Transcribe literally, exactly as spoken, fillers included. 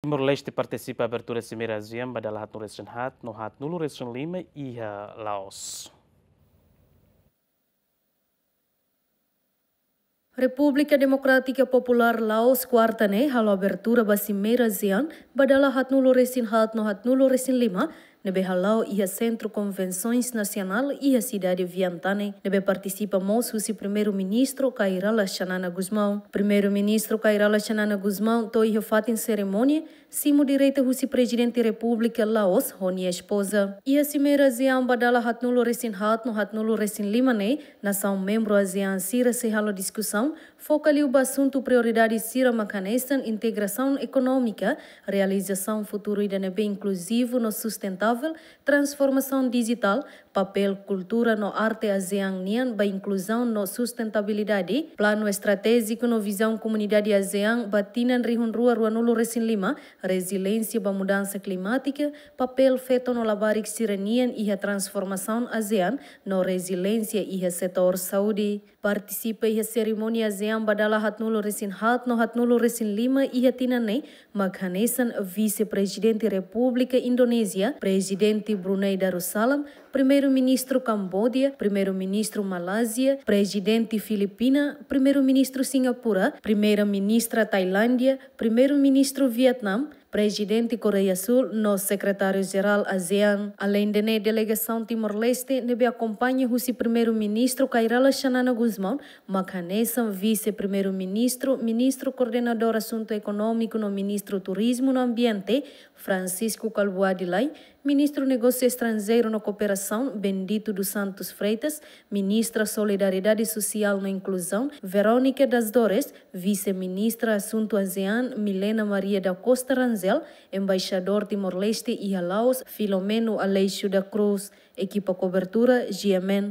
Timor-Leste partisipa abertura Simeira ASEAN ba dala haatnulu-resin-haat no haatnulu-resin-lima iha Laos. Repúblika Demokrátika Populár Laos kuarta ne'e halo abertura ba Simeira ASEAN ba dala haatnulu-resin-haat no haatnulu-resin-lima, ne'ebé hala'o iha Sentru Konvensoens Nasionál iha sidade Vientiane, ne'ebé partisipa mós husi Primeiru-Ministru Kay Rala Xanana Gusmão. Primeiru-Ministru Kay Rala Xanana Gusmão to'o iha fatin serimónia, simu direta husi Prezidente Repúblika Laos ho nia espoza. Iha Simeira ASEAN ba dala haatnulu-resin-haat no haatnulu-resin-lima ne'e, nasaun membru ASEAN sira sei halo diskusaun, foka liu ba asuntu prioridade sira mak hanesan integrasaun ekonómika, realizasaun futuru ida ne'ebé inkluzivu no sustentável, transformasaun dijitál, papél kultura no arte ASEAN nian ba inkluzaun no sustentabilidade, planu estratéjiku no vizaun komunidade ASEAN ba tinan rihun rua ruanulu-resin-lima, reziliénsia ba mudansa klimátika, papél feto no labarik sira-nian iha transformasaun ASEAN no reziliénsia iha setór saúde. Partisipa iha serimónia ASEAN ba dala haatnulu-resin-haat no haatnulu-resin-lima iha tinan ne'e mak hanesan Vise-Prezidente Repúblika Indonézia, Prezidente Brunei Darussalam, Primeiru-Ministru Kamboja, Primeiru-Ministru Malázia, Prezidente Filipina, Primeiru-Ministru Singapura, Primeira-Ministra Tailándia, Primeiru-Ministru Vietnam, Prezidente Koreia Súl no Sekretáriu-Jerál ASEAN. Aleinde ne'e, delegasaun Timor-Leste ne'ebé akompaña husi Primeiru-Ministru Kay Rala Xanana Gusmão, mak hanesan Vise-Primeiru-Ministru, Ministru Koordenadór Asuntu Ekonómiku no Ministru Turizmu no Ambiente, Francisco Kalbuadi Lay, Ministru Negósiu Estranjeiru no Kooperasaun, Bendito dos Santos Freitas, Ministra Solidariedade Sosiál no Inkluzaun, Verónica das Dores, Vise-Ministra Asuntu ASEAN, Milena Maria da Costa Rangel, Embaixadór Timor-Leste iha Laos, Filomeno Aleixo da Cruz. Ekipa kobertura, G M N.